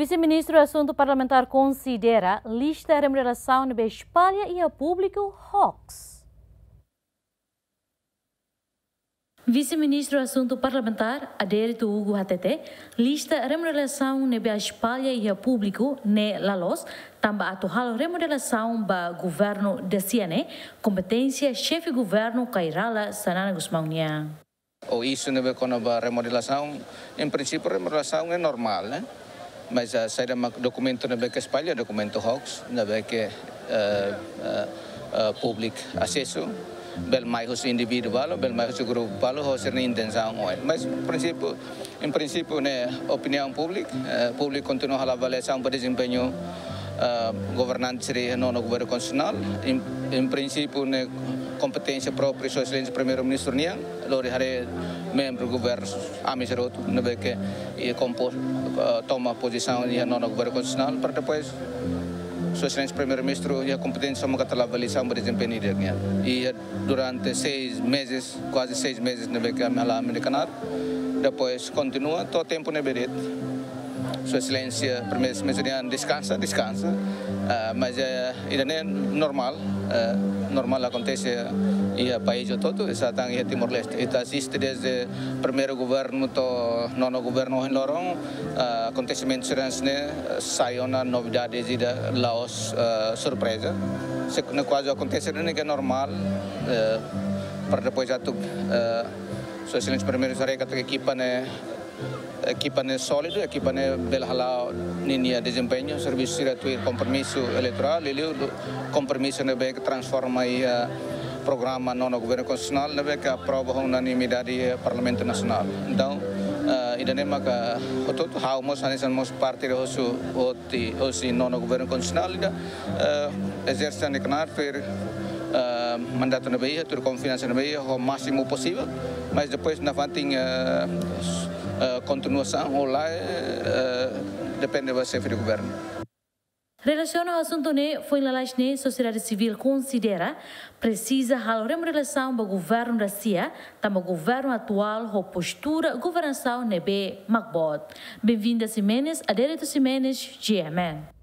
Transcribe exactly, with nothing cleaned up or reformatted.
Vise-Ministru Asuntu Parlamentár konsidera lista remodelasaun ne'ebé espalla iha públiku hoax. Vise-Ministru Asuntu Parlamentár, Adérito Hugo hatete, lista remodelasaun ne'ebé espalla iha públiku ne'e la loos, tanba atu halo remodelasaun ba governu dasia ne'e kompeténsia xefe governu Kay Rala Xanana Gusmão nian. O isu ne'ebé kona-ba remodelasaun, em princípio remodelasaun é normal, né? Mas, ah, saida mak dokumentu ne'ebé ke espalla, dokumentu hoax, ne'ebé ke, eh, eh, eh, public asesu, bele mai husi indivíduu balu, bele mai husi grupu balu, ho sira-nia intensaun oin. Mas prinsípiu, em princípio, ne'e opiniaun públika, eh, públiku kontinua halo avaliasaun ba dezempeñu, eh, governante sira iha nonu governu konstitusionál. Em, em princípio, ne'e kompeténsia própria Sua Exelénsia Primeiru-Ministru nian, lori haree membru governu ami sira hotu, ne'ebé ke iha kompo-, eh, toma pozisaun iha nonu governu konstitusionál, para depois Sua Exelénsia Primeiru-Ministru iha kompeténsia maka halo avaliasaun ba dezempeñu ida nian. I durante seis meses, kuaze seis meses ne'ebé ke ami hala'o ami-nia knaar, depois kontinua to'o tempu ne'ebé de'it Sua Exelénsia Primeiru-Ministru nian deskansa, deskansa. Ah, mas, eh, ida-ne'e normál, eh, normál akontese iha país hotu-hotu, esá tan iha Timor-Leste. Ita asiste dezde primeiru governu to'o nonu governu ohin loron, ah, akontesimentu sira hanesan ne'e, eh, sai ona novidade ida, la'ós, eh, surpreza. Se ne'e kuaze akontese ne'e ke normál, eh, para depois atu, eh, Sua Exelénsia Primeiru-Ministru haree katak ekipa ne'e, ekipa ne'e sólidu, ekipa ne'e bele hala'o ninia dezempeñu, servisu sira tuir kompromisu eleitorál, liuliu kompromisu ne'ebé ke transforma iha programa nonu governu konstitusionál ne'ebé ke aprova ho unanimidade iha Parlamentu Nasionál. Entaun, eh, ida-ne'e maka hotu-hotu ha'u mós hanesan mós parte husi, hosi, hosi nonu governu konstitusionál ida, eh, ezerse ami-nia knaar tuir, eh, mandatu ne'ebé iha, tuir konfiansa ne'ebé iha, ho másimu posivel, mas depois nafatin, eh, s-, eh, kontinuasaun ou lae, eh, depende ba xefe de governu. Relasiona ho asuntu ne'e, foin lalais ne'e sosiedade sivíl konsidera presiza halo remodelasaun ba governu dasia, tanba governu atuál ho postura governasaun ne'ebé mak boot. Benvinda Ximenes, Adérito Ximenes, G M N.